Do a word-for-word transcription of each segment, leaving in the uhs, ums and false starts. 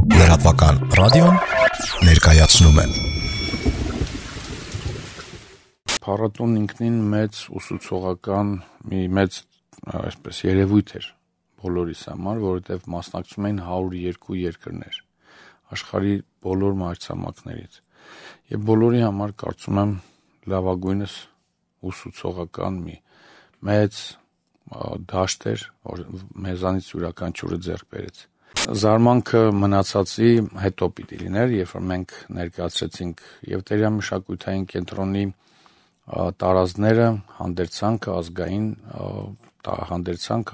Լրատվական ռադիոն ներկայացնում է։ Փառատոնն ինքնին մեծ ուսուցողական մի մեծ այսպես երևույթ էր բոլորիս համար, որովհետև մասնակցում էին հարյուր ու երկու երկրներ աշխարհի բոլոր մայրցամաքներից։ Եվ բոլորի համար կարծում եմ լավագույնս ուսուցողական մի մեծ դաշտ էր, որ մեզանից յուրաքանչյուրը ձեռք բերեց։ Զարմանքը մնացածի հետո պիտի լիներ, երբ որ մենք ներկայացրեցինք եւ Տերյան մշակութային կենտրոնի տարազները, հանդերձանքը, ազգային հանդերձանք,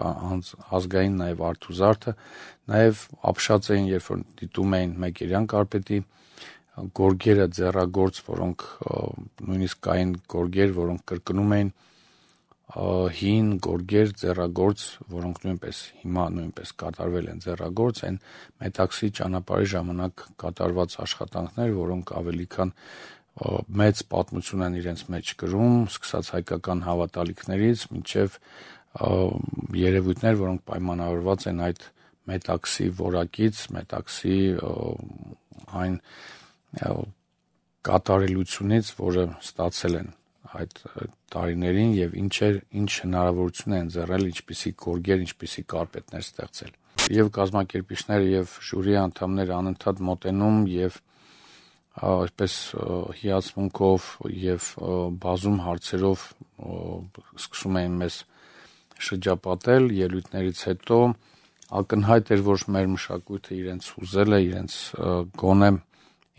ազգային նաեւ արթուզարդը, նաեւ ապշած էին, երբ որ դիտում էին Մեկերյան կարպետի գորգերը, ձեռագործ, որոնք նույնիսկ կային գորգեր, որոնք կրկնում էին հին գորգեր, ձեռագործ, որոնք նույնպես հիմա նույնպես կատարվել են ձեռագործ, այն մետաքսի ճանապարհի ժամանակ կատարված աշխատանքներ, որոնք ավելի քան մեծ պատմություն են իրենց մեջ կրում, սկսած հայկական հավատալիքներից մինչև երևույթներ, որոնք պայմանավորված են այդ մետաքսի որակից, մետաքսի այն կատարելությունից, որը ստացել են այդ տարիներին եւ ինչեր ինչ հնարավորություն են ձեռնել, ինչպիսի գորգեր, ինչպիսի կարպետներ ստեղծել։ Եվ կազմակերպիչները եւ ժյուրի անդամները անընդհատ մոտենում եւ այսպես հիացմունքով եւ բազում հարցերով սկսում էին մեզ շրջապատել ելույթներից հետո ակնհայտ էր, որ մեր մշակույթը իրենց ուզել է, իրենց գոնե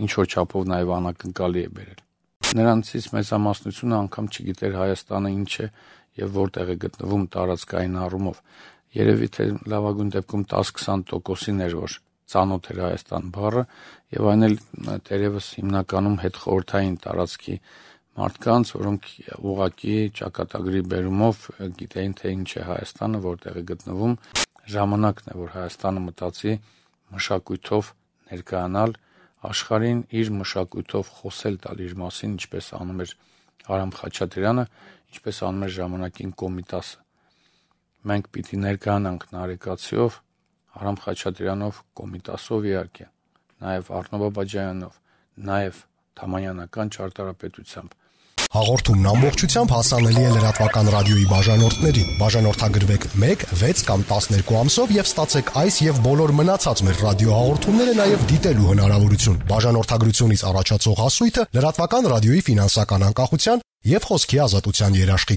ինչ որ չափով նաեւ անակնկալի է բերել։ Նրանցից մեծամասնությունը անգամ չգիտեր Հայաստանը ինչ է եւ որտեղ է գտնվում տարածքային առումով։ Երևի թե լավագույն դեպքում տաս-քսան տոկոսին էր, որ ծանոթ էր Հայաստան բառը եւ այն էլ դերևս հիմնականում հետխորհրդային տարածքի մարդկանց, որոնք ուղղակի ճակատագրի բերումով գիտեին թե ինչ է Հայաստանը, որտեղ է գտնվում։ Ժամանակն է, որ Հայաստանը մտածի մշակույթով ներկայանալ աշխարհին, իր մշակույթով խոսել տալ իր մասին, ինչպես անում էր Արամ Խաչատրյանը, ինչպես անում էր ժամանակին Կոմիտասը։ Մենք պիտի ներկայանանք Նարեկացիով, Արամ Խաչատրյանով, Կոմիտասով իհարկե, նաև Առնո Բաբաջանյանով, նաև Թամանյանական ճարտարապետությամբ։ Հաղորդումն ամբողջությամբ հասանելի է լրատվական ռադիոյի բաժանորդներին։ Բաժանորդագրվեք մեկ, վեց կամ տասներկու ամսով եւ ստացեք այս եւ բոլոր մնացած մեր ռադիոհաղորդումները նաեւ դիտելու հնարավորություն։ Բաժանորդագրությունից առաջացող հասույթը լրատվական ռադիոյի ֆինանսական անկախության եւ խոսքի ազատության երաշխիք։